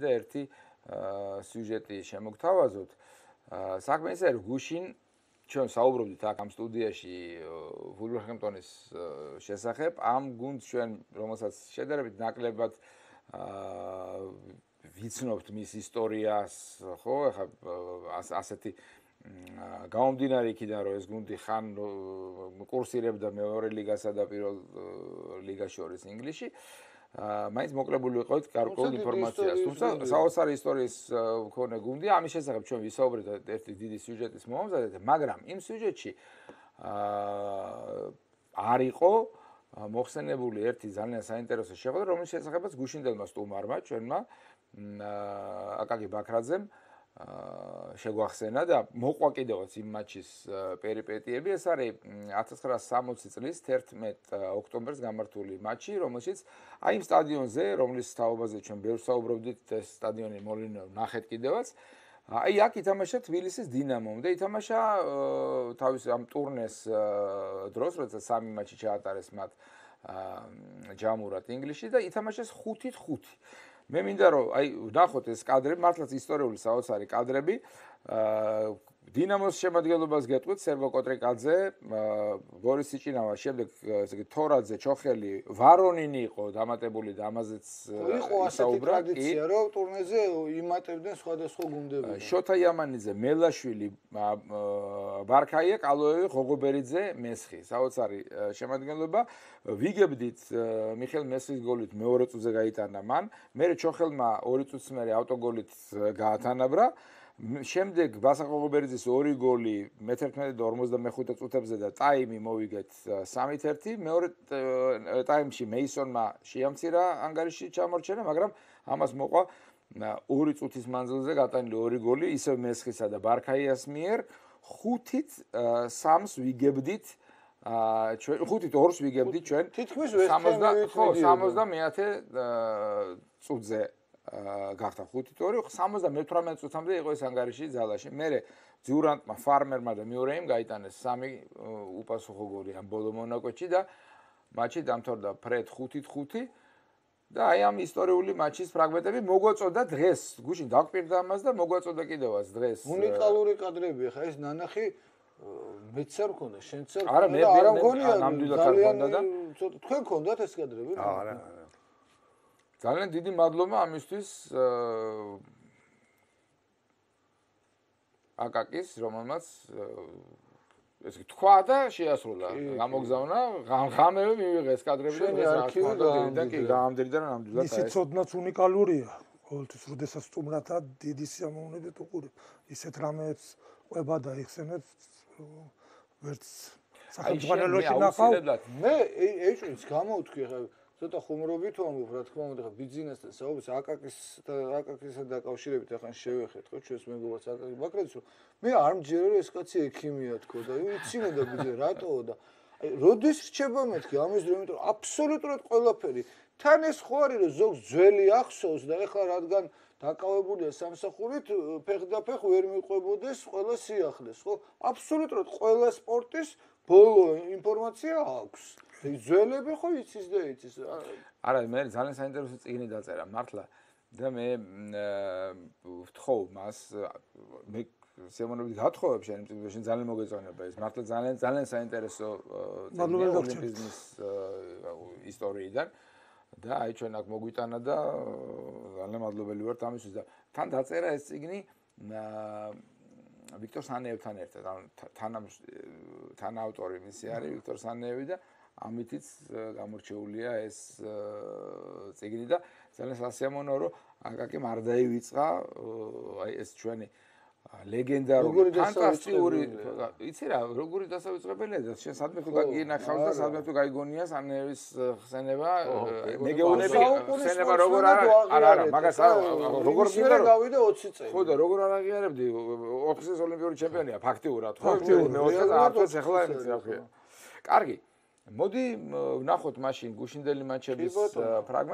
და ერთი სიუჟეტი შემოგთავაზოთ. საქმე ისე რომ გუშინ ჩვენ საუბრობდით აქ ამ სტუდიაში ვულვერჰემპტონის შესახებ, ამ გუნდს ჩვენ რომელსაც შედარებით ნაკლებად ვიცნობთ მის ისტორიას, ხო, ახლა ასეთი გამომდინარე იქიდან რომ ეს გუნდი ხან კურსირებდა მეორე ლიგასა და პირველ ლიგას შორის ინგლისში, მაინც მოკლებული ვიყავით გარკვეულ ინფორმაციას. თუმცა საოცარი ისტორიის მქონე გუნდი, ამის შესახებ ჩვენ ვისაუბრეთ ერთი დიდი სიუჟეტის მომზადეთ, მაგრამ იმ სიუჟეტში არ იყო მოხსენებული ერთი ძალიან საინტერესო შეხვედრა, რომლის შესახებაც გუშინდელმა სტუმარმა ჩვენმა აკაკი ბაქრაძემ შეგვახსენა და მოყვა კიდევაც იმ მატჩის პერიპეტიები. ეს არის 1960 წლის 11 ოქტომბერს გამართული მატჩი, რომელშიც აი იმ სტადიონზე, რომლის თაობაზე ჩვენ ბევრს საუბრობდით, ეს სტადიონი მოლინო ნახეთ კიდევაც. აი აქ ითამაშა თბილისის დინამომ და ითამაშა თავის ამ ტურნეს დროს, როცა სამი მატჩი ჩაატარეს მათ ჯამურად ინგლისში და ითამაშეს 5-5. მე მინდა რომ აი ვნახოთ ეს კადრები, მართლაც ისტორიული საოცარი კადრები. დინამოს შემადგენლობას გეტყვით სერგო კოტრიკაძე, ბორის სიჭინავა, შემდეგ ესე იგი თორაძე, ჩოხელი, ვარონინი იყო დამატებული და ამაზეც იყო ასეთი ტრადიცია, რომ ტურნეზე იმატებდნენ სხვადასხვა გუნდები. შოთა იამანიძე, მელაშვილი, ბარქაია, კალოევი, ღოღობერიძე, მესხი. საოცარი შემადგენლობა. ვიგებდით მიხელ მესხის გოლით მეორე წუთზე გაიტანა მან. მერე ჩოხელმა 2 წუთს მერე ავტოგოლით გაათანაბრა. შემდეგ ბასა ღოღობერიძის 2 გოლი მე-11-55 წუთებზე და ტაიმი მოვიგეთ 3-1. მეორე ტაიმში მეისონმა შეამცირა ანგარიში ჩამორჩენა, მაგრამ ამას მოყვა 2 წუთის მანძილზე გატანილი 2 გოლი, ისევ მესხისა და ბარქაიას მიერ. 5-3-ს ვიგებდით ჩვენ 5-2-ს ვიგებდით ჩვენ თითქმის 70-ე წუთზე გახდა 5-2, 78 წუთამდე იყო ეს ანგარიში ძალაში. მერე ძიურანტმა, ფარმერმა და მიურეიმ გაიტანეს 3 უპასუხო გოლი ამ ბოლო მონაკვეთში და მატჩი დამთავრდა ფრედ 5-5 და აი ამ ისტორიული მატჩის ფრაგმენტები მოგვაწოდა დღეს. გუშინ დაგვპირდა ამას და მოგვაწოდა კიდევაც დღეს. უნიკალური კადრები, ხა ეს ნანახი მეც არ მქონდა, შენც არ არა, მე არ მგონია ნამდვილად არ მქონდა და თქვენ გქონდათ ეს კადრები? არა. ძალიან დიდი მადლობა ამისთვის აკაკის, რომელმაც ესე თქვა და შეასრულა. გამოგზავნა, ღამევე მივიღე ეს კადრები და ეს არქივიდან კი გაამდრიდა და ნამდვილად ისიც ოდნავ უნიკალურია. ყოველთვის როდესაც სტუმრათა დიდი სიამოვნებით უყურებ. ისეთ რამეებს ყვება და იხსენებს ვერც სახელმწიფოში ნახავ. მე ეჭვიც გამოვთქვი ხა ცოტა ხუმრობით ვამბობ, რა თქმა უნდა, ხა ბიზნესთან საუბრობთ, აკაკისთან დაკავშირებით ახლა შევეხეთ, ხო, ჩვენს მეგობრებს აკაკი ბაქრაძეს, რომ მე არ მჯერა რომ ეს კაცი ექიმია თქო და იცინოდა ბიძე რატოო და აი როდის რჩება მეთქი ამის დრო, იმიტომ რომ აბსოლუტურად ყველაფერი თან ეს ხო არის რომ ზოგს ძველი ახსოვს და ეხლა რადგან დაკავებულია სამსახურით, ფეხდაფეხ ვერ მიყვებოდეს ყველა სიახლეს, ხო? აბსოლუტურად ყველა სპორტის ბოლო ინფორმაცია აქვს. ძველები ხო იცის და იცის. არა, მე ძალიან საინტერესო წიგნი დაწერა მართლა და მე ვთხოვ მას, მე სიამოვნებით გათხოვებ შენ წიგნში ძალიან მოგეწონება ეს. მართლა ძალიან საინტერესო წიგნი ოლიმპიზმის ისტორიიდან და აი ჩვენ აქ მოგვიტანა და ძალიან მადლობელი ვართ ამისთვის და თან დაწერა ეს წიგნი ვიქტორ სანეევთან ერთად, თანაავტორი მისი არის ვიქტორ სანეევი და ამითიც გამორჩეულია ეს წიგნი და ძალიან სასიამოვნოა რომ აკაკიმ არ დაივიწყა აი ეს ჩვენი ლეგენდარული ფანტასტიკური იცი რა როგორი დასავიწყებელია და შენ სადმე თუ გაგინახავს და სადმე თუ გაიგონია სანეევის ხსენება მეგეუნები ხსენება როგორ არა მაგას როგორ მინდა რომ გავიდა 20 წელი ხო და როგორ არ აღიარებდი 4 წლის ოლიმპიური ჩემპიონია ფაქტიურად ხო მე 20 ახლა იმით რა ქვია კარგი მოდი ვნახოთ მაშინ გუშინდელი მატჩების ფრაგმენტი